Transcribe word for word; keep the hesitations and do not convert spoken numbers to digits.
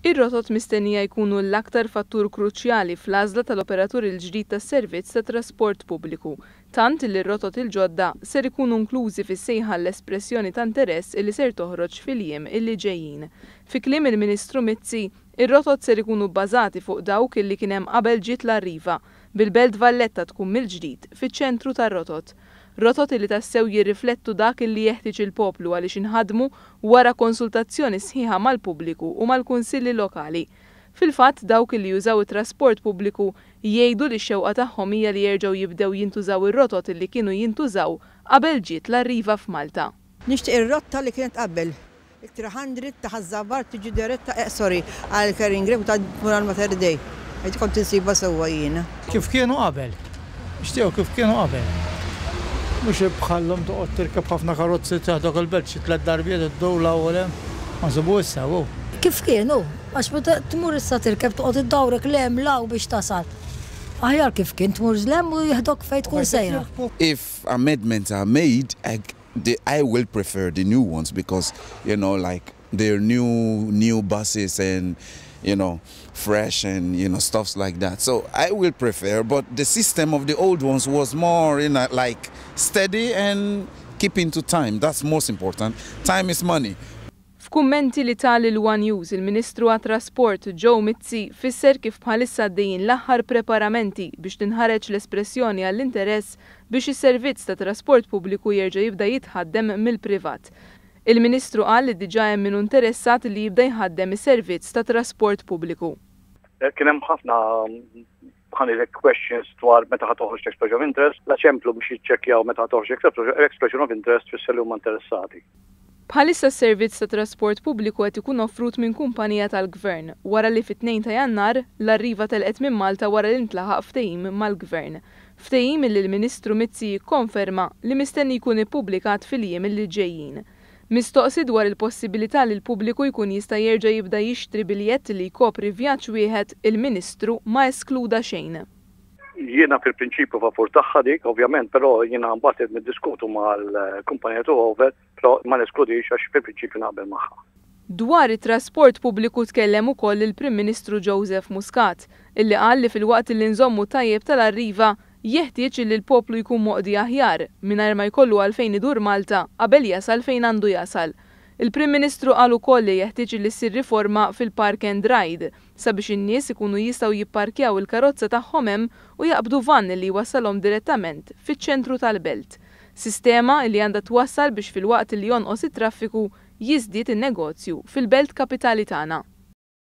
Ir-rotot mistennija jkunu l-aktar fattur kruċjali fl-għażla tal-operatur il-ġdid tas-servizz ta' trasport pubbliku, tant li r-rotot il-ġodda ser ikunu inklużi fis-sejħa l-espressjoni ta' interess li ser toħroġ fil-jiem illi ġejjin. Fi kliem il-Ministru Mizzi, ir-rotot ser ikunu bbażati fuq dawk illi kien hemm qabel ġiet l-Arriva, bil-Belt Valletta tkun mill-ġdid fiċ-ċentru tar-rotot. Rotot li tassew jirriflettu dak li jeħtieġ il-poplu għaliex inħadmu wara konsultazzjoni sħiħa mal-pubbliku u mal-kunsilli lokali. Fil-fatt, dawk li jużaw it-trasport pubbliku jgħidu li x-xewqa tagħhom hija li jerġgħu jibdew jintużaw ir-rotot li kienu jintużaw qabel ġiet l-Arriva f'Malta. Nixtieq ir-rotta li kienet qabel. Il-tliet mija ta' Ħaż-Żabbar tiġi diretta, eh, sorry, għal Kerring Grave ta' tmur għal Mater Dei. Għid kont insiba sewwa jiena. Kif kienu qabel. Nixtiequ kif kienu qabel. Mhux bħal-lum toqgħod tirkeb ħafna karozzi, taħdok il-belt xi tliet darbiet iddur l-ewwel hemm. Ma nsibu issa hu. Kif kienu? Għax meta tmur issa tirkeb, toqgħod iddawrek 'l hemm 'l hawn biex tasal. Aħjar kif kien, tmur 'l hemm u jeħdok fejn tkun sejra. If amendments are made, I, the, I will prefer the new ones because, you know, like they're new, new buses and, you know, fresh and, you know, stuffs like that. So I will prefer, but the system of the old ones was more, you know, like steady and keeping to time. That's most important. Time is money. F'kummenti li ta lil One News, il-Ministru għat-Trasport Joe Mizzi fisser kif bħalissa għaddejjin l-aħħar preparamenti biex tinħareġ l-espressjoni għall-interess biex is-servizz ta' trasport pubbliku jerġa' jibda jitħaddem mill-privat. Il-Ministru qal li diġà hemm min interessat li jibda jħaddem is-servizz ta' trasport pubbliku. Kien hemm ħafna, ħa ngħidlek, questions dwar meta ħa toħroġ expression of interest, la ċemplu biex jiċċekkjaw meta ħa toħroġ expression of interest, fisser li huma interessati. Bħalissa s-servizz ta' trasport pubbliku qed ikun offrut minn kumpanija tal-gvern wara li fit-tnejn ta' Jannar l-Arriva telqet minn Malta wara li ntlaħaq ftehim mal-gvern. Ftehim li l-Ministru Mizzi jikkonferma li mistenni jkun ippubblikat fil-jiem li ġejjin. Mistoqsi dwar il-possibilità li l-pubbliku jkun jista' jerġa' jibda jixtri biljett li jkopri vjaġġ wieħed, il-Ministru ma eskluda xejn. Jiena fil-prinċipju favur tagħha dik, ovvjament, però jiena mbagħad niddiskutu mal-kumpanija over, però ma neskludix għax fil-prinċipju naqbel magħha. Dwar it-trasport pubbliku tkellem ukoll il-Prim Ministru Joseph Muscat, illi qal li filwaqt li nżommu tajjeb tal-Arriva, jeħtieġ li l-poplu jkun moqdi aħjar mingħajr ma jkollu għalfejn idur Malta qabel jasal fejn għandu jasal. Il-Prim Ministru qal ukoll li jeħtieġ li ssir riforma fil-Park and Ride sabiex in-nies ikunu jistgħu jipparkjaw il-karozza tagħhom hemm u jaqbdu van li jwassalhom direttament fiċ-ċentru tal-belt. Sistema li għandha twassal biex filwaqt li jonqos it-traffiku jiżdied in-negozju fil-belt kapitali tagħna.